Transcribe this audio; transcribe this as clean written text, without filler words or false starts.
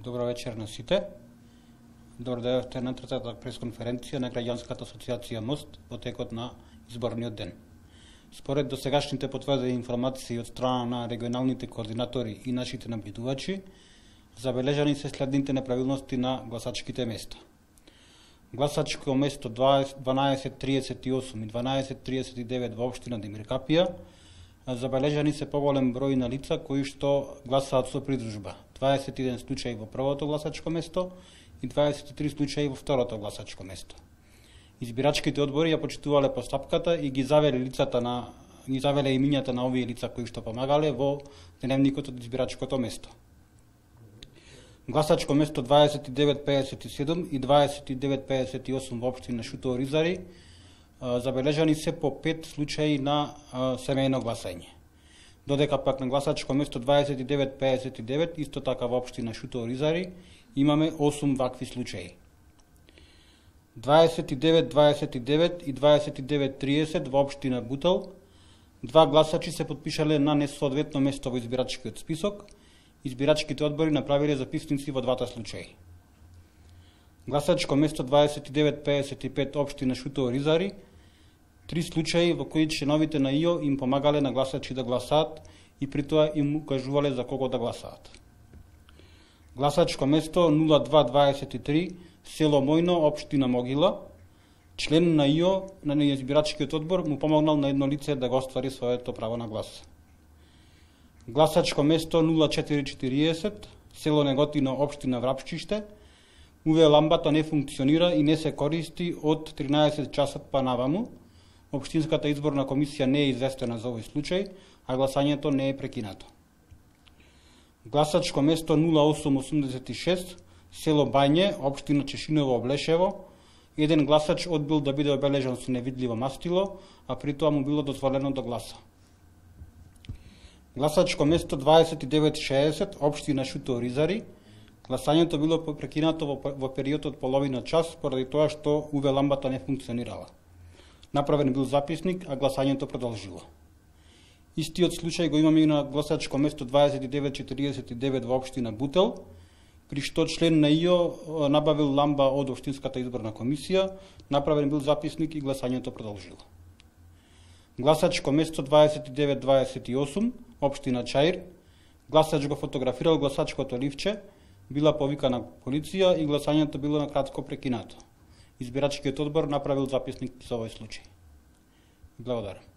Добро вечер на сите. Добро дојдовте на третата пресконференција на Граѓанската асоциација МОСТ во текот на изборниот ден. Според досегашните потврдени информации од страна на регионалните координатори и нашите набедувачи, забележани се следните неправилности на гласачките места. Гласачко место 1238 и 1239 во општина Демир Капија, забележани се поголем број на лица кои што гласаат со придружба. 21 случаи во првото гласачко место и 23 случаи во второто гласачко место. Избирачките одбори ја почитувале постапката и ги завеле имињата на овие лица кои што помагале во дневникот од избирачкото место. Гласачко место 2957 и 2958 во општина Шутово Ризари, забележани се по 5 случаи на семејно гласање. Додека пак на гласачко место 2959, исто така во општина Шутово Ризари, имаме 8 вакви случаи. 2929 и 2930 во општина Бутел, два гласачи се подпишале на несоодветно место во избирачкиот список. Избирачките одбори направиле записници во двата случаи. Гласачко место 2955 општина Шутово Ризари, 3 случаи во кои членовите на ИО им помагале на гласачи да гласаат и при тоа им укажувале за кого да гласаат. Гласачко место 0223 село Мојно, општина Могила, член на ИО на избирачкиот одбор му помогнал на едно лице да го оствари своето право на глас. Гласачко место 0440 село Неготино, општина Врапчиште, УВ ламбата не функционира и не се користи од 13 часот па наваму. Општинската изборна комисија не е известена за овој случај, а гласањето не е прекинато. Гласачко место 0886 село Бање, општина Чешиново, Облешево, еден гласач одбил да биде обележан со невидливо мастило, а при тоа му било дозволено да гласа. Гласачко место 2960 општина Шутово Ризари, гласањето било прекинато во период од половина час поради тоа што УВ ламбата не функционирала. Направен бил записник, а гласањето продолжило. Истиот случај го имаме и на гласачко место 2949 во општина Бутел, при што член на ИО набавил ламба од општинската изборна комисија, направен бил записник и гласањето продолжило. Гласачко место 2928 општина Чаир, гласач го фотографирал гласачкото ливче, била повикана полиција и гласањето било накратко прекинато. Избирачкиот одбор направил записник за овој случај. Благодарам.